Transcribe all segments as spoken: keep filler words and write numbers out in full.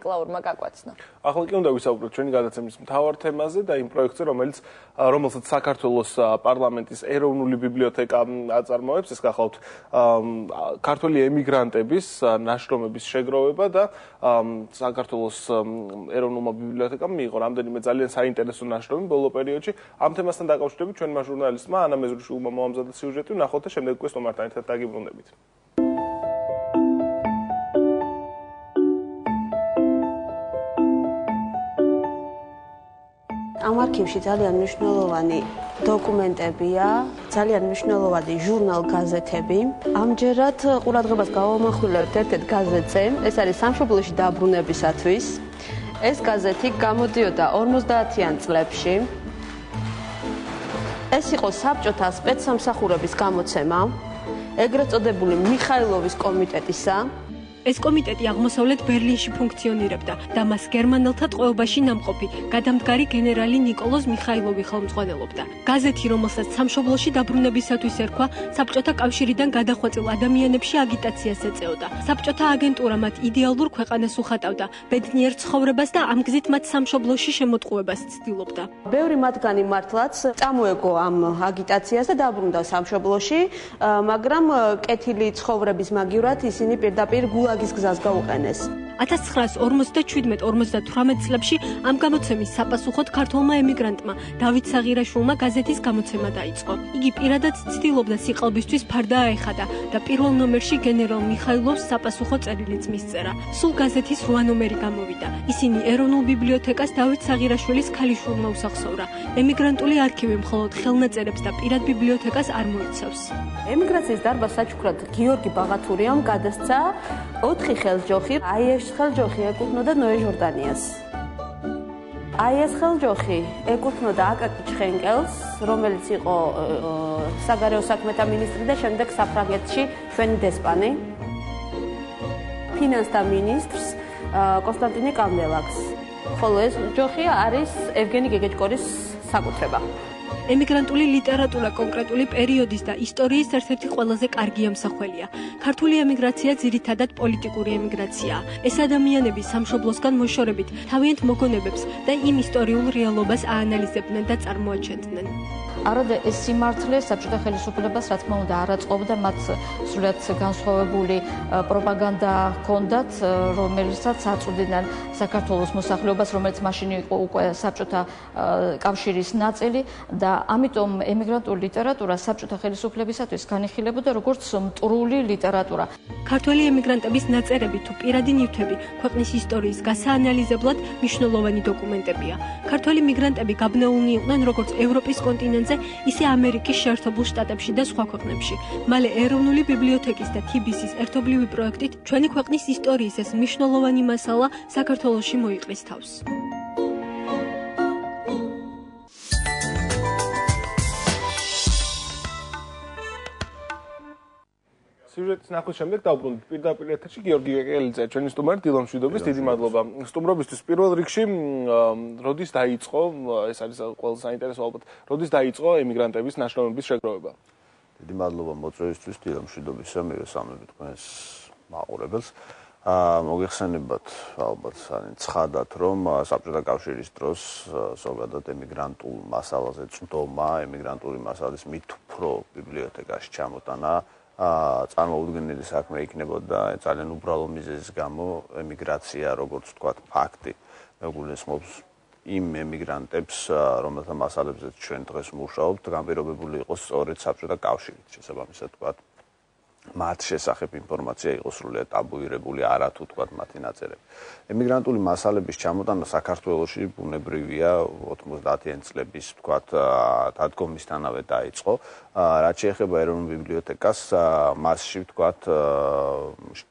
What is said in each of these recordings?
ბაკალავრმა გაკვაცნა. ახლა კი უნდა ვისაუბროთ ჩვენი გადაცემის მთავარ თემაზე და იმ პროექტზე, რომელიც რომელსაც საქართველოს პარლამენტის ეროვნული ბიბლიოთეკა აწარმოებს, ეს გახლავთ ქართველი ემიგრანტების ნაშრომების შეგროვება და საქართველოს ეროვნულმა ბიბლიოთეკამ მიიღო რამდენიმე ძალიან საინტერესო ნაშრომი ბოლო პერიოდში. ამ თემასთან დაკავშირებით ჩვენმა ჟურნალისტმა ანა მეზრუშვილმა მოამზადა სიუჟეტი, ვნახოთ და შემდეგ უკვე სტუმართან ერთად დაგიბრუნდებით. ამ არქივში ძალიან მნიშვნელოვანი დოკუმენტებია, ძალიან მნიშვნელოვანი ჟურნალ-გაზეთები. ამჯერად ყურადღებას გავამახვილებთ ერთ-ერთ გაზეთზე, ეს არის სამშობლოში დაბრუნებისათვის. ეს გაზეთი გამოდიოდა ორმოცდაათიან წლებში. ეს იყო საბჭოთა სპეცსამსახურების გამოცემა, ეგრეთ წოდებული მიხაილოვის კომიტეტისა. ეს კომიტეტი აღმოსავლეთ ბერლინში ფუნქციონირებდა და მას გერმანელთა ტყვეობაში ნამყოფი გადამდგარი გენერალი ნიკოლოზ მიხაილოვი ხელმძღვანელობდა. გაზეთი, რომელსაც სამშობლოში დაბრუნებისათვის ერქვა, საბჭოთა კავშირიდან გადახვეწილ ადამიანებში აგიტაციას ეწეოდა. საბჭოთა აგენტურა მათ იდეალურ ქვეყანას უხატავდა, ბედნიერ ცხოვრებას და ამ გზით მათ სამშობლოში შემოტყუებას ცდილობდა. ბევრი მათგანი მართლაც წამოეგო ამ აგიტაციას და დაბრუნდა სამშობლოში, მაგრამ კეთილი ცხოვრების მაგივრად ისინი პირდაპირ გულაგის გზას გაუყენეს. ათას ცხრაას ორმოცდაჩვიდმეტ ორმოცდათვრამეტ წლებში ამ გამოცემის საპასუხოდ ქართველმა ემიგრანტმა დავით საღირაშვილმა გაზეთის გამოცემა დაიწყო. იგი პირადად ცდილობდა სიყალბისთვის ფარდა აეხადა და პირველ ნომერში გენერალ მიხაილოვს საპასუხო წერილიც მისწერა. სულ გაზეთის რვა ნომერი გამოვიდა. ისინი ეროვნულ ბიბლიოთეკას დავით საღირაშვილის ქალიშვილმა უსახსოვრა. ემიგრანტული არქივი მხოლოდ ხელნაწერებს და პირად ბიბლიოთეკას არ მოიცავს. ემიგრაციის დარბაზ საჩუქრად გიორგი ბაღათურიამ გადასცა ოთხი ხელჯოხი. აი ეს ხელჯოხი ეკუთვნოდა ნოე ჟორდანიას. აი ეს ხელჯოხი ეკუთვნოდა აკაკი ჩხენკელს, რომელიც იყო საგარეო საქმეთა მინისტრი და შემდეგ საფრანგეთში ჩვენი დესპანი. ფინანსთა მინისტრს კონსტანტინე კანდელაკს. ხოლო ეს ჯოხი არის ევგენი გეგეჭკორის საკუთრება. ემიგრანტული ლიტერატურა კონკრეტული პერიოდის და ისტორიის ერთ-ერთი ყველაზე კარგი ამსახველია. ქართული ემიგრაცია ძირითადად პოლიტიკური ემიგრაციაა. ეს ადამიანები სამშობლოსგან მოშორებით თავიანთ მოგონებებს და იმ ისტორიულ რეალობას აანალიზებდნენ და წარმოაჩენდნენ. არადა ეს სიმართლე საბჭოთა ხელისუფლებას რა თქმა უნდა არ აწყობდა, მათ სრულიად განსხვავებული პროპაგანდა ჰქონდათ, რომელსაც აწვდიდნენ საქართველოს მოსახლეობას, რომელიც მაშინ იყო უკვე საბჭოთა კავშირის ნაწილი და ამიტომ ემიგრანტული ლიტერატურა საბჭოთა ხელისუფლებისათვის განიხილებოდა როგორც მტრული ლიტერატურა. ქართველი ემიგრანტების ნაწერები თუ პირადი ნივთები ქვეყნის ისტორიის გასაანალიზებლად მნიშვნელოვანი დოკუმენტებია. ქართველი მიგრანტები გაბნეულნი იყვნენ როგორც ევროპის კონტინენტზე, ისე ამერიკის შეერთებულ შტატებში და სხვა ქვეყნებში. მალე ეროვნული ბიბლიოთეკის და თიბისის ერთობლივი პროექტით ჩვენი ქვეყნის ისტორიის ეს მნიშვნელოვანი მასალა საქართველოში მოიყრის თავს. სიუჟეტის ნახვის შემდეგ დავბრუნდით პირდაპირ ეთერში გიორგი გეკელიძე, ჩვენი სტუმარი დილო მშვიდობის, დიდი მადლობა. სტუმრობისთვის პირველ რიგში როდის დაიწყო, ეს არის ყველაზე საინტერესო ალბათ, როდის დაიწყო ემიგრანტების ნაშრომების შეგროვება? დიდი მადლობა მოწვევისთვის, დილო მშვიდობისა, მივესალმები თქვენს მაყურებელს. მოგეხსენებათ ალბათ ცხადად, რომ საბჭოთა კავშირის დროს ზოგადად ემიგრანტულ მასალაზე წვდომა, ემიგრანტული მასალის მით უფრო ბიბლიოთეკაში ჩამოტანა წარმოუდგენელი საქმე იქნებოდა ძალიან უბრალო მიზეზის გამო ემიგრაცია, როგორც ვთქვათ, ფაქტი მეგულისხმობს იმ ემიგრანტებს, რომელთა მასალებზეც ჩვენ დღეს მუშაობთ, განპირობებული იყოს სწორედ საბჭოთა კავშირით, შესაბამისად ვთქვათ, მათ შესახებ ინფორმაცია იყოს სრულიად ტაბუირებული, არა თუ თქვათ მათი ნაწერები. ემიგრანტული მასალების ჩამოტანა საქართველოში ბუნებრივია ოცდაათიან წლების თქვათ დადგომისთანავე დაიწყო. რაც შეეხება ეროვნულ ბიბლიოთეკას, მასში თქვათ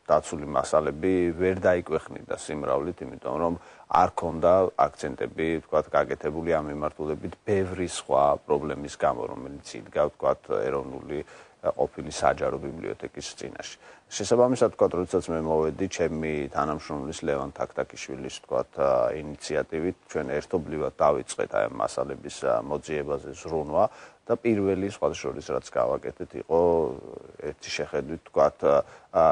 დაცული მასალები ვერ დაიკვეხნიდა სიმრავლით, იმიტომ რომ არ ქონდა აქცენტები თქვათ გაკეთებული ამ მიმართულებით ბევრი სხვა პრობლემის გამო, რომელიც იდგა თქვათ ეროვნული ყოფილი საჯარო ბიბლიოთეკის წინაშე. შესაბამისად, თქვა, როდესაც მე მოვედი ჩემი თანამშრომლის ლევან თაქთაქიშვილის თქვა ინიციატივით, ჩვენ ერთობლივად დავიწყეთ აი მასალების მოძიებაზე ზრუნვა და პირველი სხვადასხვა რაც გავაკეთეთ იყო ერთი შეხედვით თქვა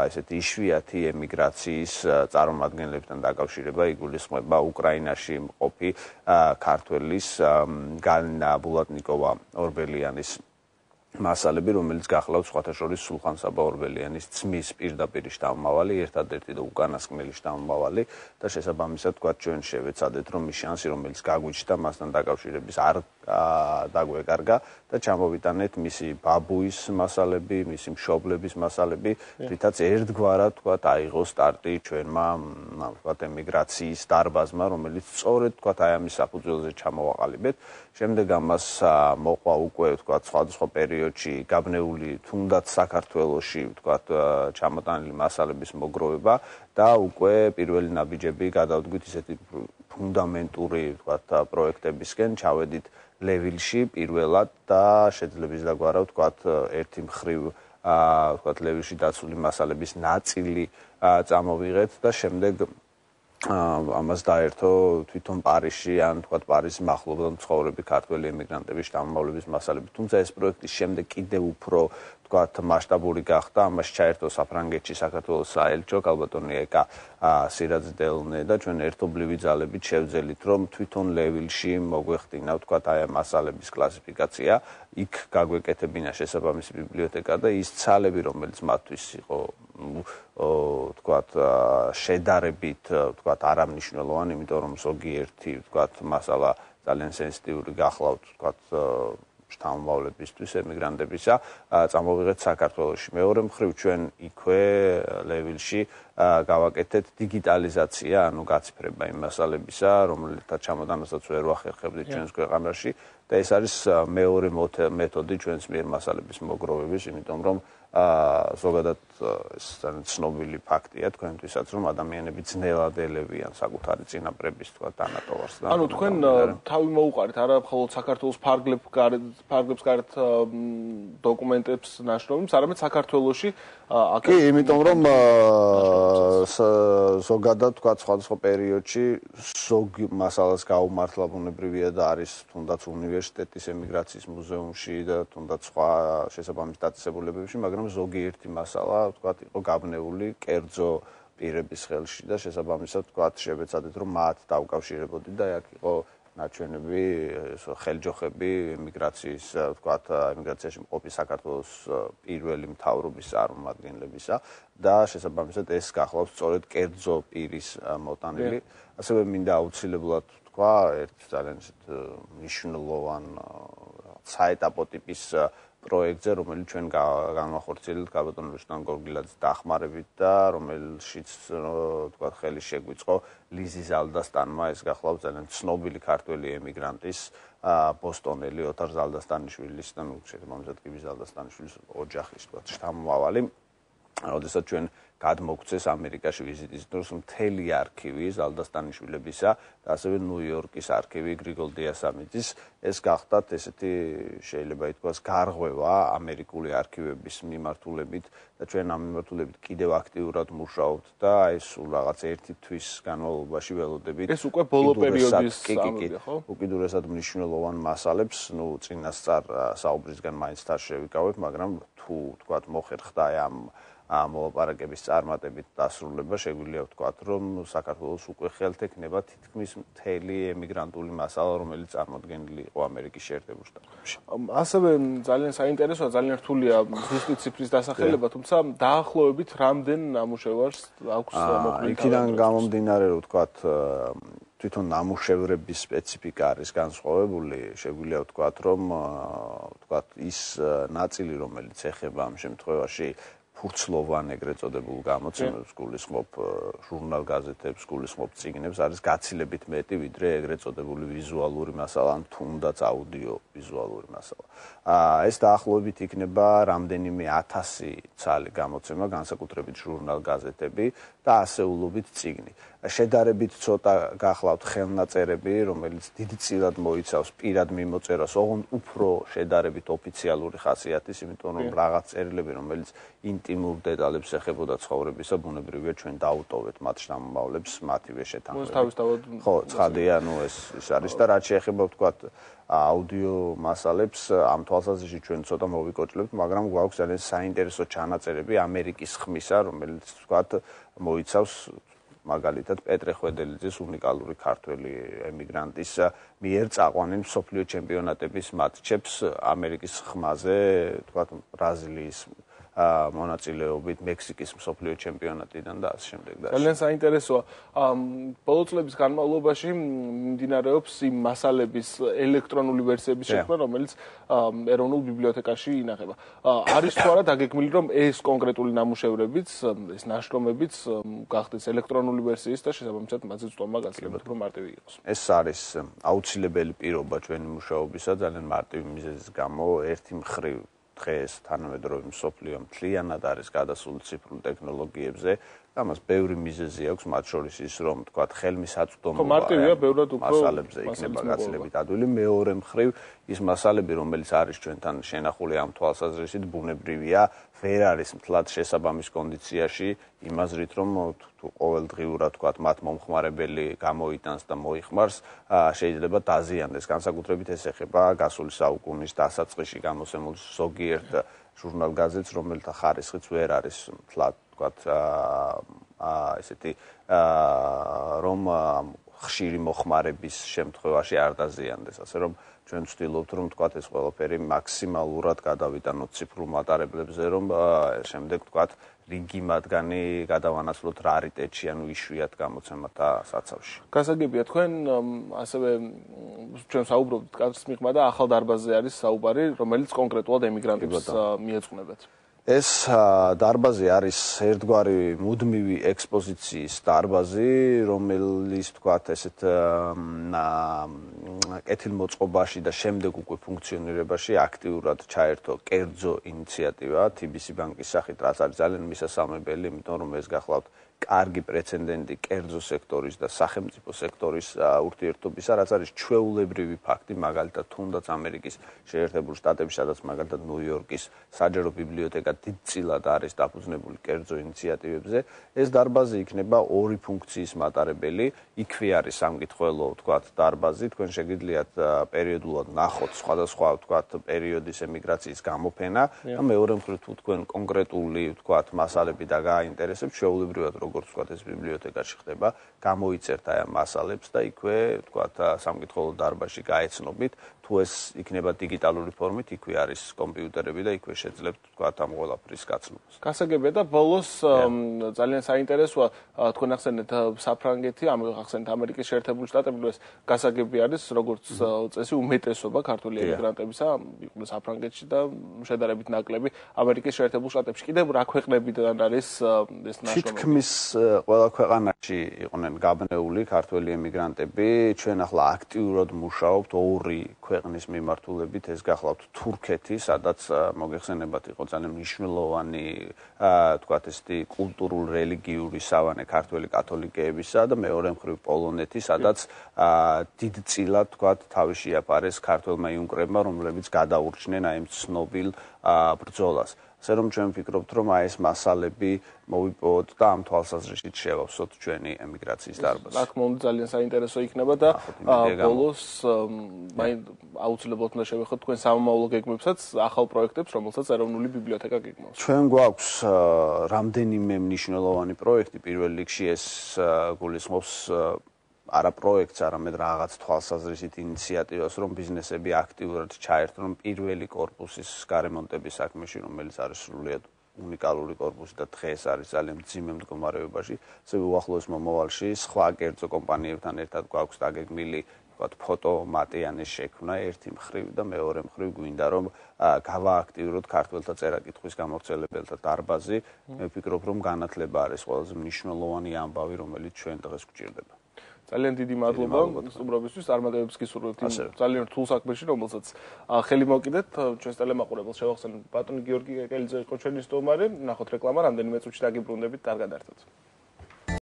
ესეთი იშვიათი ემიგრაციის წარმომადგენლებთან დაკავშირება, იგულისხმება უკრაინაში მყოფი ქართველის გალინა ბულატნიკოვა ორბელიანის მასალები, რომელიც გახლავთ სხვათა შორის სულხან საბა ორბელიანის ძმის პირდაპირ შთამომავალი, ერთადერთი და უკანასკნელი შთამომავალი და შესაბამისად თქვა ჩვენ შევეცადეთ რომ ის შანსი რომელიც გაგვიჩნდა მასთან დაკავშირების არ დაგვეკარგა და ჩამოვიტანეთ მისი ბაბუის მასალები, მისი მშობლების მასალები, რითაც ერთგვარად თქვა აიღო სტარტი ჩვენმა თქვა ემიგრაციის დარბაზმა, რომელიც სწორედ თქვა აი ამის საფუძველზე ჩამოვაყალიბეთ. შემდეგ ამას მოყვა უკვე თქვა სხვადასხვა პერიოდში გაბნეული თუნდაც საქართველოში თქვა ჩამოტანილი მასალების მოგროვება და უკვე პირველი ნაბიჯები გადავდგით ისეთი ფუნდამენტური თქვა პროექტებისკენ, ჩავედით ლევილში პირველად და შეძლებს დაგვარავთ თქვა ერთი მხრივ თქვა ლევილში დაცული მასალების ნაწილი წამოვიღეთ და შემდეგ ამას დაერთო თვითონ პარიზში ან თქვა პარიზის მახლობლად მცხოვრები ქართველი ემიგრანტების შთამომავლების მასალები. თუმცა ეს პროექტი შემდეგ კიდევ უფრო თქვა მასშტაბური გახდა, ამას ჩაერთო საფრანგეთში საქართველოს საელჩო კალბატონი ეკა სირაძდელნე და ჩვენ ერთობლივი ძალებით შევძელით რომ თვითონ ლევილში მოგვეხდინა თქვა აი მასალების კლასიფიკაცია, იქ გაგვეკეთებინა შესაბამისი ბიბლიოთეკა და ის ცალები რომელიც მათთვის იყო თქვათ შედარებით თქვათ არამნიშვნელოვანი, იმიტომ რომ ზოგიერთი თქვათ მასალა ძალიან სენსიტიური გახლავთ თქვათ შთამომავლებისთვის ემიგრანტებისა, წამოვიღეთ საქართველოში. მეორე მხრივ ჩვენ იქვე ლევილში გავაკეთეთ დიგიტალიზაცია, ანუ გაციფრება იმ მასალებისა, რომელთა ჩამოტანასაც ვერ ვახერხებდით ჩვენს ქვეყანაში და ეს არის მეორე მეთოდი ჩვენს მიერ მასალების მოგროვების, იმიტომ რომ ზოგადად ეს ძალიან ცნობილი ფაქტია თქვენთვისაც, რომ ადამიანები ძნელად ელევიან საკუთარი წინაპრების თქვა დანატოვარს. ანუ თქვენ თავი მოუყარეთ არა მხოლოდ საქართველოს ფარგლებს გარეთ ფარგლებს გარეთ დოკუმენტებს ნაშრომებს, არამედ საქართველოში კი, იმიტომ რომ ზოგადად თქვა სხვადასხვა პერიოდში ზოგ მასალას გაუმართლა ბუნებრივია და არის თუნდაც უნივერსიტეტის ემიგრაციის მუზეუმში და თუნდაც სხვა შესაბამის დაწესებულებებში, მაგრამ ზოგიერთი მასალა თქვა იყო გაბნეული კერძო პირების ხელში და შესაბამისად თქვა შევეცადეთ რომ მათ დავკავშირებოდი და აქ იყო ნაჩვენები ხელჯოხები ემიგრაციის თქვა ემიგრაციაში მყოფი საქართველოს პირველი მთავრობის წარმომადგენლებისა და შესაბამისად ეს გახლავს სწორედ კერძო პირის მოტანილი. ასევე მინდა აუცილებლად თქვა ერთ ძალიან მნიშვნელოვან საეტაპო ტიპის პროექტზე, რომელიც ჩვენ განვახორციელებთ კალბატონ რუსტან გორგილაძის დახმარებით და რომელშიც თქვა ხელი შეგვიწყო ლიზი ზალდასტანმა, ეს გახლავთ ძალიან ცნობილი ქართველი ემიგრანტის ბოსტონელი ოთარ ზალდასტანიშვილის და შესაბამისად კი ზალდასტანიშვილის ოჯახის თქვა შთამომავალი. როდესაც ჩვენ გადმოგცეს ამერიკაში ვიზიტის დროს მთელი არქივი ზალდასტანიშვილებისა და ასევე ნიუ-იორკის არქივი გრიგოლ დიასამიძის, ეს გახდათ ესეთი შეიძლება ითქვას გარღვევა ამერიკული არქივების მიმართულებით და ჩვენ ამ მიმართულებით კიდევ აქტიურად მუშაობთ და ეს სულ რაღაც ერთი თვის განმავლობაში ველოდებით. ეს უკვე ბოლო პერიოდის ამბავია, ხო? უკიდურესად მნიშვნელოვან მასალებს, ნუ წინასწარ საუბრისგან მაინც თან შევიკავებ, მაგრამ თუ თქვათ მოხერხდა ამ მოლაპარაკების წარმატებით დასრულება, შეგვიძლია ვთქვათ, რომ საქართველოს უკვე ხელთექნება თითქმის მთელი ემიგრანტული მასალა, რომელიც წარმოდგენილი იყო ამერიკის შეერთებულ შტატებში. ასევე ძალიან საინტერესოა, ძალიან რთულია ზუსტი ციფრის დასახელება, თუმცა დაახლოებით რამდენ ნამუშევარს აქვს მოქმედი. იქიდან გამომდინარე, რომ ვთქვათ, თვითონ ნამუშევრების სპეციფიკა არის განსხვავებული, შეგვიძლია ვთქვათ, რომ ვთქვათ ის ნაწილი, რომელიც ეხება ამ შემთხვევაში ხურცლოვან ეგრეთ წოდებულ გამოცემებს, გულისხმობ ჟურნალ-გაზეთებს, გულისხმობ წიგნებს, არის გაცილებით მეტი, ვიდრე ეგრეთ წოდებული ვიზუალური მასალა, ან თუნდაც აუდიო-ვიზუალური მასალა. ეს დაახლოებით იქნება რამდენიმე ათასი ცალი გამოცემა, განსაკუთრებით ჟურნალ-გაზეთები და ასეულობით წიგნი. შედარებით ცოტა გახლავთ ხელნაწერები, რომელიც დიდწილად მოიცავს პირად მიმოწერას, ოღონდ უფრო შედარებით ოფიციალური ხასიათის, იმიტომ რომ რაღაც წერილები, რომელიც ინტიმურ დეტალებს ეხებოდა ცხოვრებისა, ბუნებრივია ჩვენ დაუტოვეთ მათ შთამომავლებს მათივე შეთანხმებით. ხო, ცხადია, ნუ ეს ის არის და რაც შეეხება ვთქვათ აუდიო მასალებს, ამ თვალსაზრისით ჩვენ ცოტა მოვიკოჭლებთ, მაგრამ გვაქვს ძალიან საინტერესო ჩანაწერები ამერიკის ხმისა, რომელიც ვთქვათ მოიცავს მაგალითად პეტრე ხვედელიძის უნიკალური ქართველი ემიგრანტის მიერ წაყვანილ მსოფლიო ჩემპიონატების მატჩებს ამერიკის ხმაზე, თქვათ ბრაზილიის მონაწილეობით, მექსიკის მსოფლიო ჩემპიონატიდან და ასე შემდეგ და ძალიან საინტერესოა. ბოლო წლების განმავლობაში მიმდინარეობს იმ მასალების ელექტრონული ვერსიების შექმნა, რომელიც ეროვნულ ბიბლიოთეკაში ინახება. არის თუ არა დაგეგმილი, რომ ეს კონკრეტული ნამუშევრებიც, ეს ნაშრომებიც გახდეს ელექტრონული ვერსიის და შესაბამისად მათზე წვდომა გაცილებით უფრო მარტივი იყოს. ეს არის აუცილებელი პირობა ჩვენი მუშაობისა, ძალიან მარტივი მიზეზის გამო, ერთი მხრივ დღეს თანამედროვე მსოფლიო მთლიანად არის გადასული ციფრულ ტექნოლოგიებზე. ამას ბევრი მიზეზი აქვს, მათ შორის ის, რომ თქვათ ხელმისაწვდომობა მასალებზე იქნება გაცილებით ადვილი. მეორე მხრივ ის მასალები, რომელიც არის ჩვენთან შენახული ამ თვალსაზრისით, ბუნებრივია, ვერ არის მთლად შესაბამის კონდიციაში, იმაზრით, რომ ყოველდღიურად თქვათ მათ მომხმარებელი გამოიტანს და მოიხმარს, შეიძლება დაზიანდეს. განსაკუთრებით ეს ეხება გასული საუკუნის დასაწყისში გამოსემულ ზოგიერთ ჟურნალ-გაზეთს, რომელთა ხარისხიც ვერ არის მთლად თქვათ აა ესეთი აა რომ ხშირი მოხმარების შემთხვევაში არ დაზიანდეს, ასე რომ ჩვენ ვცდილობთ რომ თქვათ ეს ყველაფერი მაქსიმალურად გადავიტანოთ ციფრულ მატარებლებზე, რომ შემდეგ თქვათ რიგი მათგანი გადავანაცვლოთ რარიტეტში, ანუ იშვიათ გამოცემათა საცავში. გასაგებია, თქვენ ასევე ჩვენ საუბრობთ კადრის მიღმა და ახალ დარბაზზე არის საუბარი, რომელიც კონკრეტულად ემიგრანტებს მიეძღვნებათ. ეს დარბაზი არის ერთგვარი მუდმივი ექსპოზიციის დარბაზი, რომელიც თქვათ ესეთ კეთილმოწყობაში და შემდეგ უკვე ფუნქციონირებაში აქტიურად ჩაერთო კერძო ინიციატივა თი ბი სი ბანკის სახით, რაც არის ძალიან მისასალმებელი, იმიტომ რომ ეს გახლავთ კარგი პრეცედენტი კერძო სექტორის და სახელმწიფო სექტორის ურთიერთობისა, რაც არის ჩვეულებრივი ფაქტი, მაგალითად თუნდაც ამერიკის შეერთებულ შტატებში, სადაც მაგალითად ნიუ-იორკის საჯარო ბიბლიოთეკა დიდწილად არის დაფუძნებული კერძო ინიციატივებზე. ეს დარბაზი იქნება ორი ფუნქციის მატარებელი, იქვე არის სამკითხველო, თქვათ, დარბაზი, თქვენ შეგიძლიათ პერიოდულად ნახოთ სხვადასხვა, თქვათ, პერიოდის ემიგრაციის გამოფენა და მეორე მხრივ თუ თქვენ კონკრეტული, თქვათ, მასალები და გააინტერესებთ, შეუულებრივად როგორც ვთქვათ, ეს ბიბლიოთეკაში ხდება, გამოიწერთ აი ამ მასალებს და იქვე, ვთქვათ, სამკითხველო დარბაზში გაეცნობით, თუ ეს იქნება დიგიტალური ფორმით, იქვე არის კომპიუტერები და იქვე შეძლებთ, ვთქვათ, ამ ყველაფრის გაცნობას. გასაგებია და ბოლოს ძალიან საინტერესოა, თქვენ ახსენეთ საფრანგეთი, ახსენეთ ამერიკის შეერთებული შტატები, ეს გასაგები არის, როგორც წესი, უმეტესობა ქართული ემიგრანტებისა იყვნენ საფრანგეთში და შედარებით ნაკლები ამერიკის შეერთებულ შტატებში. კიდევ რა ქვეყნებიდან არის ეს ნაშრომები? თითქმის ყველა ქვეყანაში იყვნენ გაბნეული ქართველი ემიგრანტები. ჩვენ ახლა აქტიურად მუშაობთ ორი ქვეყნის მიმართულებით, ეს გახლავთ თურქეთი, სადაც მოგეხსენებათ იყო ძალიან მნიშვნელოვანი, თქვათ ესეთი კულტურულ-რელიგიური სავანე ქართველი კათოლიკეებისა და მეორე მხრივ პოლონეთი, სადაც დიდწილად, თქვათ, თავი შეაფარეს ქართველმა იუნკრებმა, რომლებიც გადაურჩნენ აი ამ ცნობილ ბრძოლას. ასე რომ ჩვენ ვფიქრობთ, რომ აი ეს მასალები მოვიპოვოთ და ამ თვალსაზრისით შევავსოთ ჩვენი ემიგრაციის დარბაზი. რა თქმა უნდა, ძალიან საინტერესო იქნება და ბოლოს აუცილებლად უნდა შევეხოთ თქვენ სამომავლო გეგმებსაც, ახალ პროექტებს, რომელსაც ეროვნული ბიბლიოთეკა გეგმავს. ჩვენ გვაქვს რამდენიმე მნიშვნელოვანი პროექტი, პირველ რიგში ეს გულისხმობს არა პროექტს, არამედ რაღაც თვალსაზრისით ინიციატივას, რომ ბიზნესები აქტიურად ჩაერთონ პირველი კორპუსის გარემონტების საქმეში, რომელიც არის სრულიად უნიკალური კორპუსი და დღეს არის ძალიან მძიმე მდგომარეობაში. ასევე უახლოეს მომავალში სხვა კერძო კომპანიებთან ერთად გვაქვს დაგეგმილი ვთქვათ, ფოტომატიანის შექმნა ერთი მხრივ და მეორე მხრივ გვინდა რომ გავააქტიუროთ ქართველთა წერა-კითხვის გამავრცელებელთა დარბაზი. მე ვფიქრობ, რომ განათლება არის ყველაზე მნიშვნელოვანი ამბავი, რომელიც ჩვენ დღეს გვჭირდება. ძალიან დიდი მადლობა სტუმრობისთვის, წარმატებებს გისურვებთ იმ ძალიან რთულ საქმეში, რომელსაც ხელი მოკიდეთ. ჩვენს ტელემაყურებელს შევახსენებთ, ბატონი გიორგი კეკელიძე იყო ჩვენი სტუმარი. ნახოთ რეკლამა, რამდენიმე წუთში დაგიბრუნდებით, კარგად ერთად.